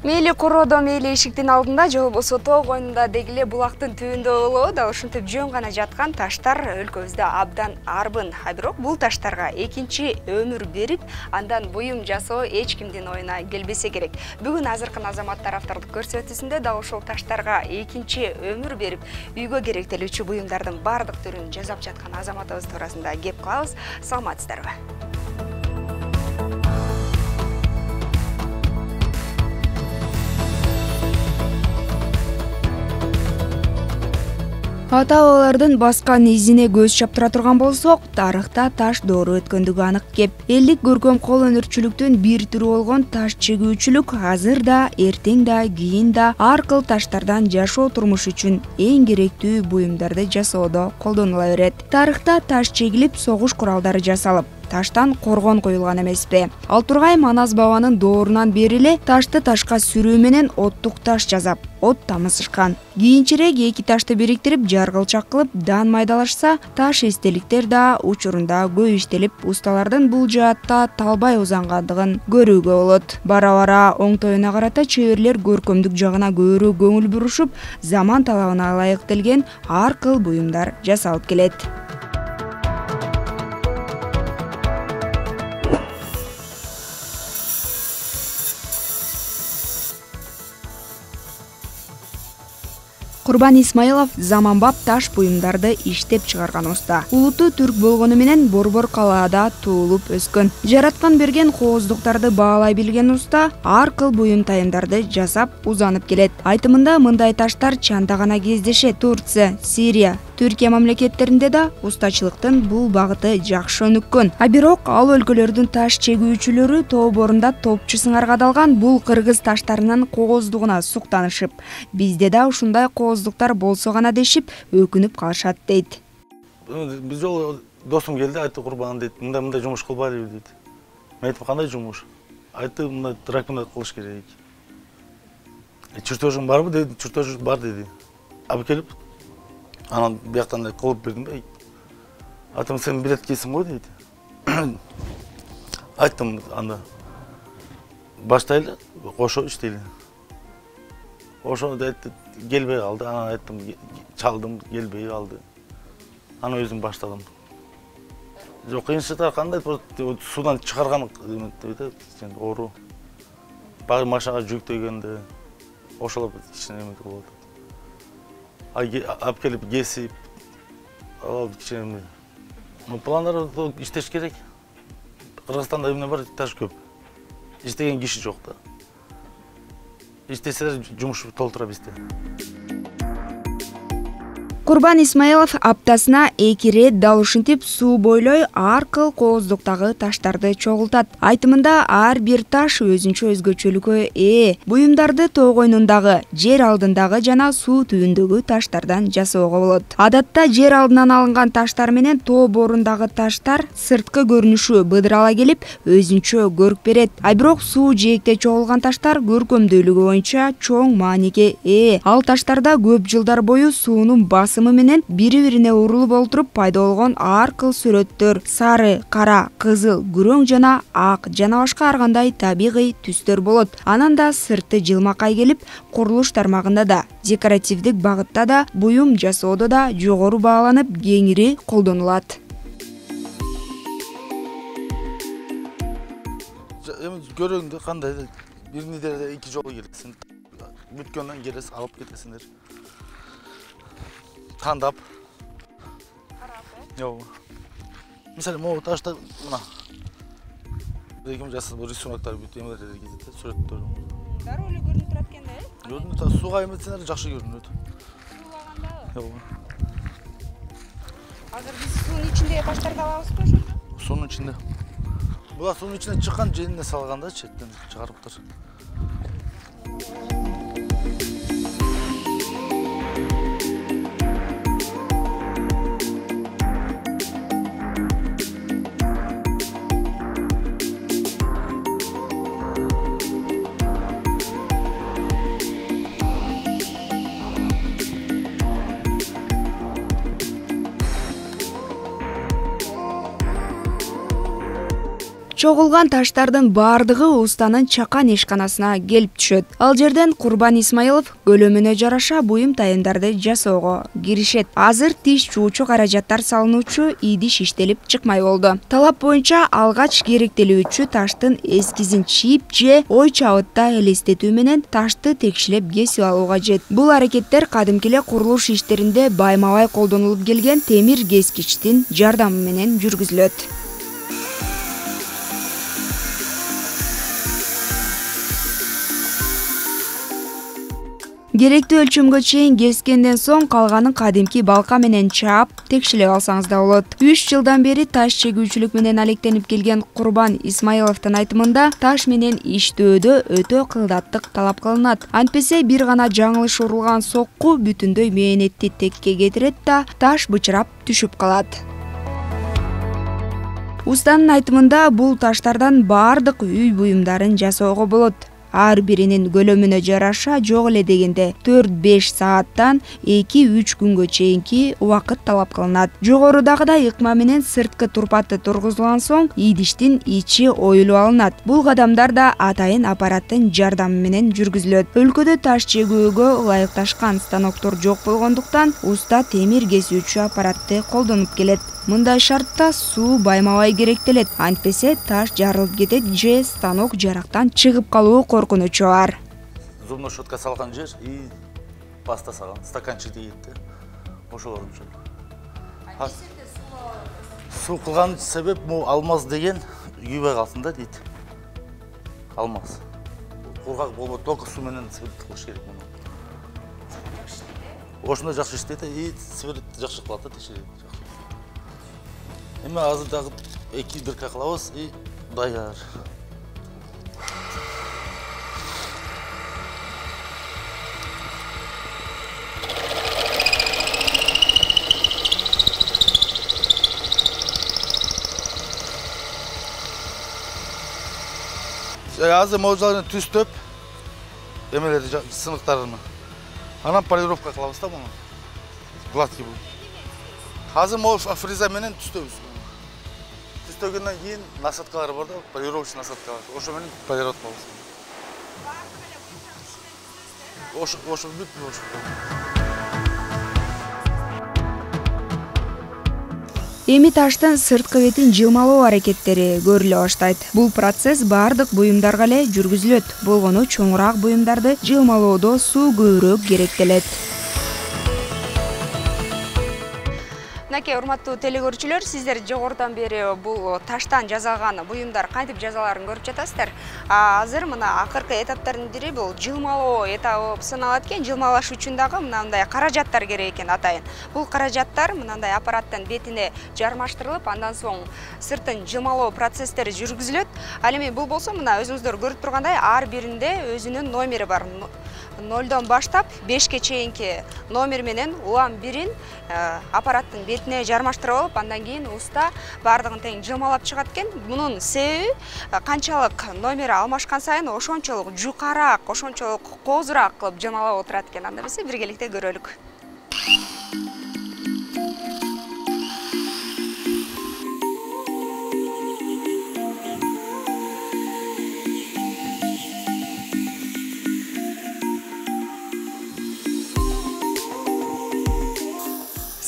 Мейли короодо, мейли эшиктин алдында же болбосо тоо койнунда дегиле булактын түбүндө болобу, дал ушинтип жөн гана жаткан таштар өлкөбүздө абдан арбын. А бирок бул таштарга экинчи өмүр берип, андан буюм жасоо эч кимдин оюна келбесе керек. Бүгүн азыркы азаматтар автордук көрсөтүүсүндө дал ушул таштарга экинчи өмүр берип, үйгө керектелүүчү буюмдардын бардык түрүн жасап жаткан азаматыбыз туурасында кеп кылабыз. Саламатсыздарбы? Ата-бабалардын баскан изине көз чаптыра турган болсок, тарыхта таш доору өткөндүгү анык кеп. Элдик көркөм кол өнөрчүлүктүн бир түрү болгон таш чегүүчүлүк азыр да, эртең да, кийин да ар кыл таштардан жашоо турмуш үчүн эң керектүү буюмдарды жасоодо колдонула берет. Тарыхта таш чегилип, согуш куралдары жасалып, таштан коргон коюлган эмеспи? Ал тургай Манас бабанын доорунан бери эле ташты ташка сүрүү менен оттук таш жасап, от тамызышкан. Кийинчерээк эки ташты бириктирип, жаргылчак кылып, дан майдалашса, таш эстеликтер да учурунда көп иштелип, усталардын бул жаатта талбай узангандыгын көрүүгө болот. Бара-бара оңтоюна карата чеберлер көркөмдүк жагына көбүрөөк көңүл бурушуп, заман талабына ылайыктелген ар кыл буюмдар жасалып келет. Курбан Исмаилов заманбап таш буюмдарды иштеп чыгарган уста. Улуту түрк болгону менен Борбор калаада туулуп өскөн. Жараткан берген кооздуктарды баалай билген уста ар кыл буюм тайымдарды жасап узанып келет. Айтымында мындай таштар чанда гана кездешет. Турция, Сирия, Түркия мамлекеттеринде да устачылыктын бул багыты жакшы өнүккөн. А бирок ал өлкөлөрдүн таш чегүүчүлөрү тоо борунда топчу сыңарга далган бул кыргыз таштарынын кооздугуна суктанышып, бизде да ушундай кооздуктар болсо гана дешип өкүнүп калышат дейт. Биз жолу досум келди, айтты Курбан дейт, мындай жумуш кылбайлыбы дейт. Мен айттым, кандай жумуш? Айтты, мындай драконат кылыш керек. Чертежиң барбы деди, чертеж бар деди. Алып келип, анан бияктан кылып бердим да. Айтым, сен билеткейсиң го дейт. Айттым, анда баштайлы, кошо иштейли. Ошо айтты, келбей калды. Анан айттым, чалдым, келбей калды. Анан өзүм баштадым. Жок, кыйынчылыктар кандай? Судан чыгарган дейт, оору. Багы машинага жүктөгөндө ошолор кичине эметип болот. Алып келип кесип, ал кичине. Пландар иштеш керек. Кыргызстанда эмне бар, таш көп. Иштеген киши жок да. İşteseler жумуш толтура бизде. Курбан Исмаилов аптасына 2 рет дал ушинтип суу бойлой ар кыл кооздуктагы таштарды чогултат. Айтымында ар бир таш өзүнчө өзгөчөлүккө ээ. Буюмдарды тоо койнундагы, жер алдындагы жана суу түбүндөгү таштардан жасоого болот. Адатта жер алдынан алынган таштар менен тоо борундагы таштар сырткы көрүнүшү быдырала келип, өзүнчө көрк берет. А бирок суу жээкте чогулган таштар көркөмдүүлүгү боюнча чоң мааниге ээ. Ал таштарда көп жылдар бою суунун басымы менен бири-бирине урулуп олтуруп пайда болгон ар кыл сүрөттөр, сары, кара, кызыл, күрөң жана ак жана башка ар кандай табигый түстөр болот. Анан да сырты жылмакай келип, курулуш тармагында да, декоративдик багытта да, буюм жасоодо да жогору бааланып, кеңири колдонулат. Көрөңдү кандай? Бир неделеде 2 жолу келесиң. Бүткөндөн келесиң, алып кетесиңдер. Тандап. Жок. Мисалы, могу ташта мына. Биргем жасап, рисунактар бүт эмелер кетет, сүрөттөр. Дароо эле көрүнүп турат экен да, э? Көрүнүп, сууга эметсеңер жакшы көрүнөт. Суулагандабы? Жок. Азыр биз суунун ичиндеги таштарды алабызбы ошондо? Суунун ичинде. Була суунун ичинен чыккан, женине салганда четтен чыгарыптыр. Чогулган таштардын бардыгы устанын чакан ишканасына келип түшөт. Ал жерден Курбан Исмаилов көлөмүнө жараша буюм тайымдарды жасоого киришет. Азыр тиш чуучу каражаттар салынуучу идиш иштелип чыкмай болду. Талап боюнча алгач керектелүүчү таштын эскизин чийип же ой чабытта элестетүү менен ташты текшилеп кесип алуу кажет. Бул аракеттер кадимки эле курулуш иштеринде байма-бай колдонулуп келген темир кескичтин жардамы менен жүргүзүлөт. Керектүү өлчөмгө чейин кескенден соң калганын кадимки балка менен чаап, текшилеп алсаңыз да болот. 3 жылдан бери таш чегүүчүлүк менен алектенип келген Курбан Исмаиловдун айтымында таш менен иштөөдө өтө кылдаттык талап кылынат. Антпесе бир гана жаңылыш урулган сокку бүтүндөй мээнетти текке кетирет да таш бычырап түшүп калат. Устанын айтымында бул таштардан бардык үй буюмдарын жасоого болот. Ар биринин көлөмүнө жараша жок эле дегенде 4-5 сааттан 2-3 күнгө чейинки убакыт талап кылынат. Жогорудагыдай ыкма менен сырткы турпаты тургузулган соң идиштин ичи оюлуп алынат. Бул кадамдар да атайын аппараттын жардамы менен жүргүзүлөт. Өлкөдө таш чегүүгө ылайыкташкан станоктор жок болгондуктан уста темир кесүүчү аппаратты колдонуп келет. Мындай шартта суу байма-бай керектелет. Антпесе таш жарылып кетет же станок жарактан чыгып калуу коркунучу бар. Зубной щетка салган жер и паста салган, стаканчик дейт да. Ошолор үчүн. Суу кылган себеп му алмаз деген күйбөй калсын да дейт. Алмаз. Кургак болбойт, только суу менен сверлит кылыш керек муну. Ошондой жакшы иштейт и сверлит жакшы кылат да текшерет. Эми азыр дагы 2-1 кылабыз и даяр. Азыр можаларын түстөп, эмелерди сыныктарын. Анан полировка кылабыз да муну. Гладкий бул. Азыр фреза менен түстөбүз. Түстөгөндөн кийин насадкалар бар да, полировочный насадкалар. Ошо менен полировка кылабыз. Ошо бүт ошо. Эми таштын сырткы бетин жылмалоо аракеттери көрүлө баштайт. Бул процесс бардык буюмдарга эле жүргүзүлөт. Болгону чоңураак буюмдарды жылмалоодо суу көбүрөөк керектелет. Мынакей урматтуу телекөрүүчүлөр, сиздер жогорудан бери бул таштан жасалган буюмдар кантип жасаларын көрүп жатасыздар. Азыр мына акыркы этаптардын бири бул жылмалоо этабы болуп саналат экен. Жылмалаш үчүн дагы мындай каражаттар керек экен атайын. Бул каражаттар мындай аппараттын бетине жармаштырылып, андан соң сыртын жылмалоо процесстери жүргүзүлөт. Ал эми бул болсо мына өзүңүздөр көрүп тургандай ар биринде өзүнүн номери бар. 0дон баштап 5ке чейинки номер менен улам бирин аппараттын бетине жармаштырып алып, андан кийин уста бардыгын тең жылмалап чыгат экен. Мунун себеби канчалык номери алмашкан сайын ошончолук жукараак, ошончолук коозураак кылып жылмалап отурат экен. Анда эмесе биргеликте көрөлүк.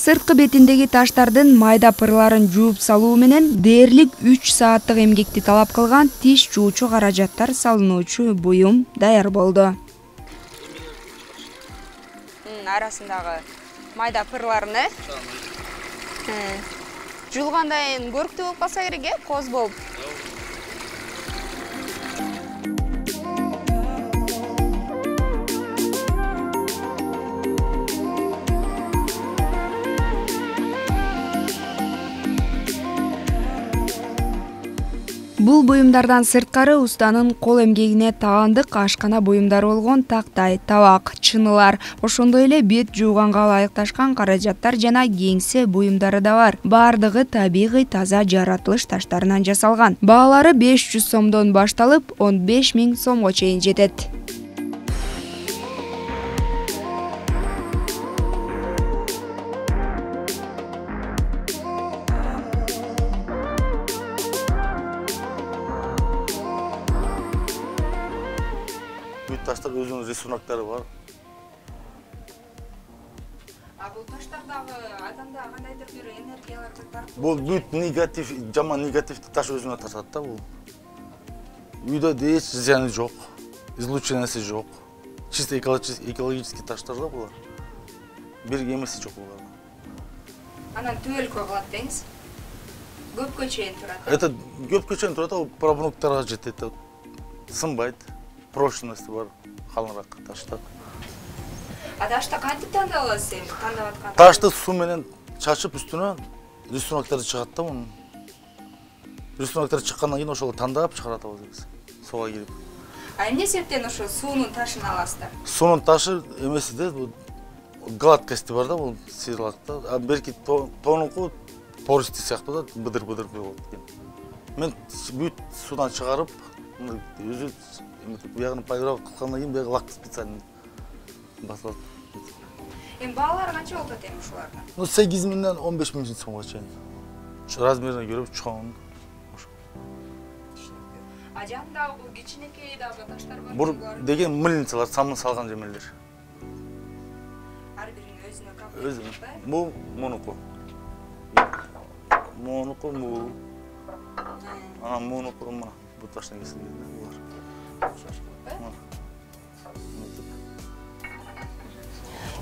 Сырткы бетиндеги таштардын майда пырларын жууп салуу менен дээрлик 3 сааттык эмгекти талап кылган тиш жуучу каражаттар салынуучу буюм даяр болду. Арасындагы майда пырларын жуулгандан кийин көрктүү болуп калса керек, кооз болуп. Бул буюмдардан сырткары устанын кол эмгегине таандык ашкана буюмдары болгон тактай, табак, чынылар, ошондой эле бет жууганга ылайыкташкан каражаттар жана кеңсе буюмдары да бар. Бардыгы табигый таза жаратылыш таштарынан жасалган. Баалары 500 сомдон башталып 15 000 сомго чейин жетет. Бүт таштар өзүнүн рисунактары бар. Бул таштардагы адамда кандайдыр бир энергияларды тартып. Бул бүт негатив, жаман негативди таш өзүнө тартат да бул. Үйдө эч зыяны жок, излучениясы жок. Чисто экологический таштар да булар. Бир эмеси жок булар. Анан түбөлкө кылат деңиз. Көпкө чейин турат. Это көпкө чейин турат, ал пробнуктарга жетет. Сынбайт. Прочности бар, калыныраак таштар. Ташты кантип тандап аласыз эми? Тандап аткан. Ташты суу менен чачып үстүнө рисунактары чыгат да мунун. Рисунактар чыккандан кийин ошол тандап чыгарат биз. Суга кирип. Эмне себептен ошо суунун ташын аласыздар? Суунун ташы эмеси да, бул гладкости бар да, бул сыйрлакта. А берки тонуку пористи сыяктуу да, быдыр-быдыр болот экен. Мен бүт суудан чыгарып, өзү биягын полировка кылгандан кийин бияга лак специально басылат. Эми баалары канча болот эми ушулардын? 8.000 15.000 сомго чейин. Размерине көрүп чоң. А жандагы бул кичинекей дагы таштар бар. Бул деген мыльницалар, самын салган жемелер. Ар биринин өзүнө Өзү. Бул монуку. Монуку бул. Монуку мына бул таштан кесилген булар.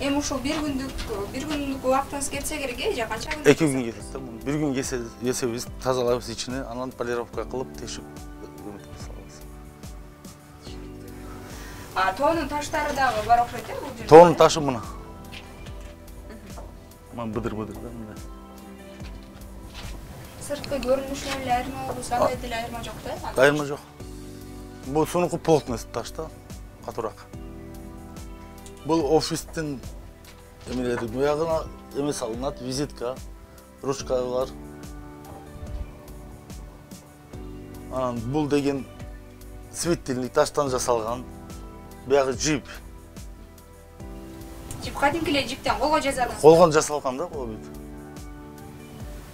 Эми ушул бир күндүк убактыңыз кетсе керек, же канча күн? 2 күн кетет да. Бир күн кесебиз, тазалайбыз ичине, анан полировка кылып, тешип салабыз. Тоонун таштары дагы бар окшойт э бул жерде? Тоонун ташы мына. Мына быдыр-быдыр да мындай. Сырткы көрүнүшүнөн эле айырма болбосо, кандай деле айырма жок да? Айырма жок. Бул сунуку плотность таш да, катуураак. Бул офистин эмелери буягына эме салынат, визитка, ручкалар. Анан бул деген светильник таштан жасалган. Буягы жип. Жип кадимки эле жиптен колго жасадыңыз? Колгон жасалган да бул бүт.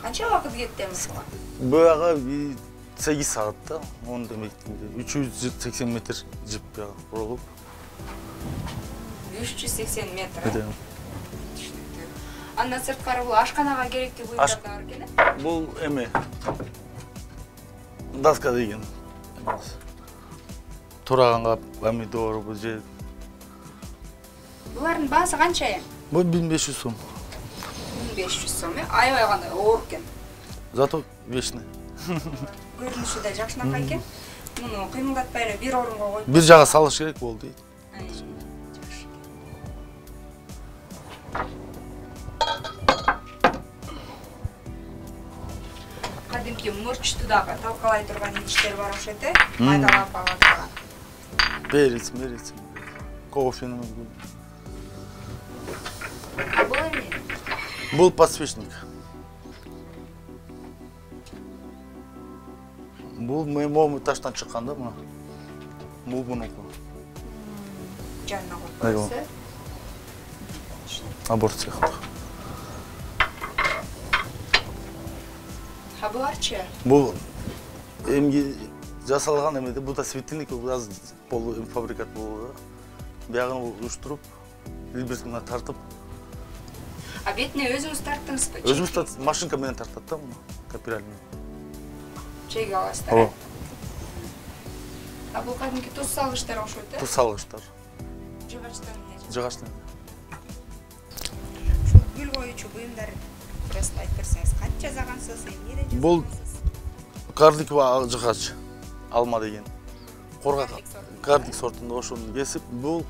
Канча убакыт кетти эми буга? Буяга 8 саат да, 10 демек 380 метр жип буяга курулуп. 380 метр. Андан сырткары бул ашканага керектүү буюмдар да бар экен э? Бул эме доска деген. Тураганга помидор бул же. Булардын баасы канча эми? Бул 1500 сом. 1500 сом э? Аябай кандай оор экен. Зато вечный. Көрүнүшү да жакшынакай экен. Муну кыймылдатпай эле бир орунга коюп. Бир жага салыш керек болду дейт. Кадимки мурчту дагы талкалай турган идиштер бар окшойт э? Майдалап алат турган. Перец. Кофени. Бул эмне? Бул подсвечник. Бул моему таштан чыккан да мына. Бул мунуку. Жанына коюп коесуз. Аборт сыяктуу. Буларчы? Бул эмги жасалган эмеде, бул да светильник, бул аз полуфабрикат болду. Биягын уюштуруп, либерсиңден тартып. А бетине өзүңүз тарттыңызбы? Өзүбүз машинка менен тартат да муну, капиральный. Чеги аласыздар. А бул кадимки туз салгычтар окшойт э? Туз салгычтар. Жыгачтан эмне? Жыгачтан. Ушул гүл коюучу буюмдар туурасында айтып берсеңиз, канча жасагансыз, эмнеде жасагансыз? Бул кардикова жыгач, алма деген. Кардик сортунда ошону кесип, бул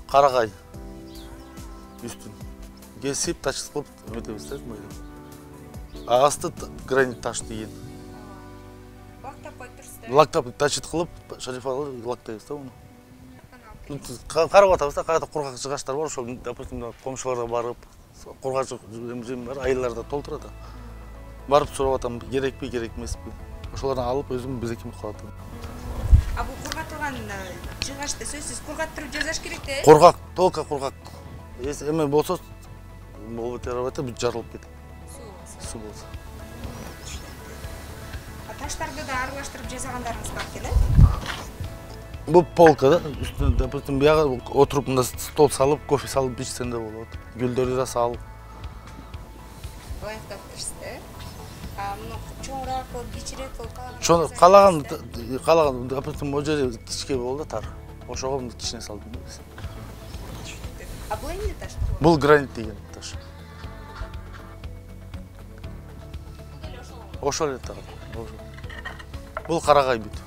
карагай үстүн кесип, тачыт кылып эметебиз да, мындай. Асты гранит таш деген. Лактап коюп турсуз да? Лактап тачыт кылып, шарифалы лактайбыз да муну. Карап атабыз да, кайда кургак жыгачтар бар, ошол, допустим, комшуларга барып, кургак жем бар, айылдарда толтурат. Барып сурап атам, керекпи, керек эмеспи. Ошолордон алып өзүм безеким кылат. А бул кургатылган жыгачты сөзсүз кургаттырып жасаш керек да? Кургак, толка кургак. Эси эме болсо, болбот ярабайт, бүт жарылып кетет. Суу болсо. А таштарды да аралаштырып жасагандарыңыз бар экен э? Бул полка да, үстүнө, допустим, бияга отуруп мында стол салып, кофе салып ичсең да болот. Гүлдөрдү да салып. Ылайыктап турсузда, муну чоңураак кылып, кичирээк кылып каалаган, допустим, могу жери кичке болду да тар. Ошого кичине салдым да биз. А бул эмне таш? Бул гранит деген таш. Ошол эле тагы. Бул карагай бүт.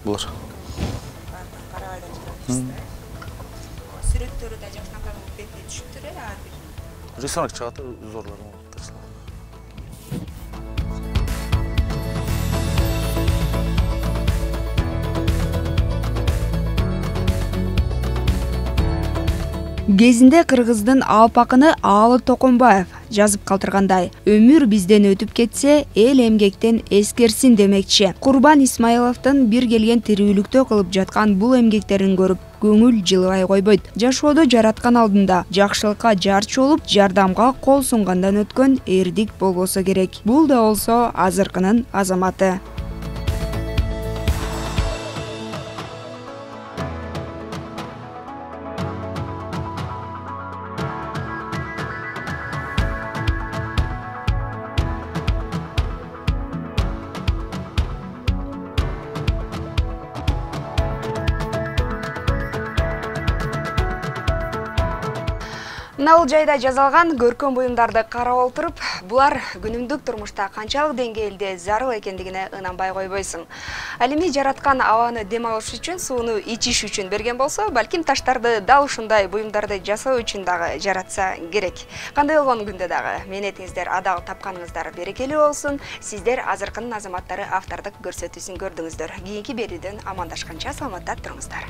Булар. Карагайдан чыгат. Сүрөттөрү да жакшынакай бетине түшүптүр ар бир. Рисунок чыгат зорлор. Кезинде кыргыздын алпакыны Аалы Токомбаев жазып калтыргандай, өмүр бизден өтүп кетсе, эл эмгектен эскерсин демекчи. Курбан Исмаиловдун бир келген тирүүлүктө кылып жаткан бул эмгектерин көрүп, көңүл жылыбай койбойт. Жашоодо жараткан алдында жакшылыкка жарчы болуп, жардамга кол сунгандан өткөн эрдик болбосо керек. Бул да болсо азыркынын азаматы. Мына бул жайда жазалган көркөм буюмдарды карап отуруп, булар күнүмдүк турмушта канчалык деңгээлде зарыл экендигине ынанбай койбойсуң. Ал эми жараткан абаны дем алыш үчүн, сууну ичиш үчүн берген болсо, балким таштарды дал ушундай буюмдарды жасоо үчүн дагы жаратса керек. Кандай болгон күндө дагы мээнетиңиздер адал, тапканыңыздар берекелүү болсун. Сиздер азыркынын азаматтары автордук көрсөтүүсүн көрдүңүздөр. Кийинки берүүдөн амандашканча саламатта туруңуздар.